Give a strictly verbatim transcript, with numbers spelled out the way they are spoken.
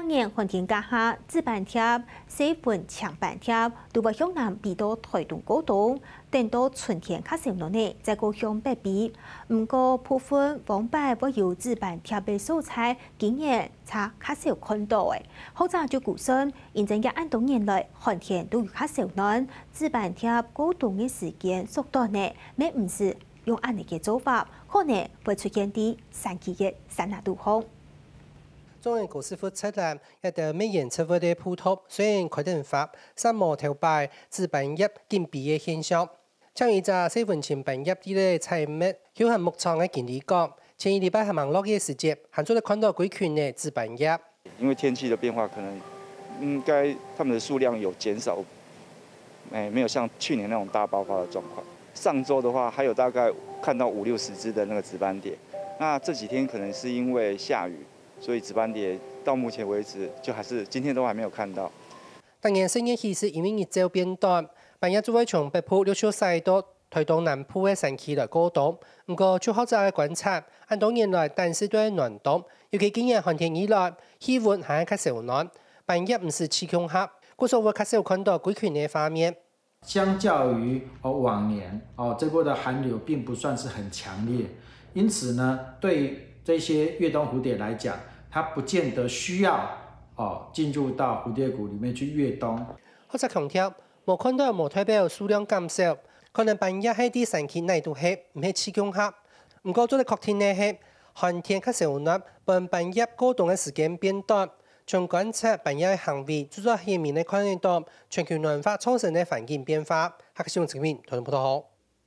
逐年寒天該下，紫斑蝶、細紋青斑蝶都會向南飛到臺東過冬，等到春天較燒暖呢，再過向北飛。毋過，部分往擺會有紫斑蝶个所在，今年就較少看到了。學者就估算，因為這恁多年來寒天都有較燒暖，紫斑蝶過冬个時間縮短呢，乜毋使用恁樣个做法，可能會出現在山區个山林肚項。 中央高士佛側欄，一兜蜜源植物个步道，雖然開等花，煞無頭擺紫斑蝶緊飛个現象。像一隻細紋青斑蝶在該採蜜，休閒牧場个經理講，前一禮拜還吂落雨个時節，還做得看到幾群个紫斑蝶。因為天氣的變化，可能應該牠們的數量有減少，哎，沒有像去年那種大爆發的狀況。上週的話，還有大概看到五六十隻的那個紫斑蝶。那這幾天可能是因為下雨， 所以紫斑蝶到目前為止，就還是今天都還沒有看到。逐年四月起時，因為日晝變短，斑蝶就會從北部陸續徙到臺東南部个山區來過冬。毋過，就學者个觀察，恁多年來，單係對暖冬，尤其今年寒天以來，氣溫還係較燒暖，斑蝶毋使聚共下，故所會較少看到幾群个畫面。 相較於哦往年哦，這波的寒流並不算是很強烈，因此呢，對這些越冬蝴蝶來講，它不見得需要哦進入到蝴蝶谷裡面去越冬。學者強調，無看到無代表數量減少，可能斑蝶係在山區哪都係，毋係聚共下。毋過做得確定个係，寒天較燒暖，分斑蝶過冬个時間變短。 從觀察斑蝶个行為，就做顯明个看得到全球暖化造成个環境變化。客家新聞陳明台東報導。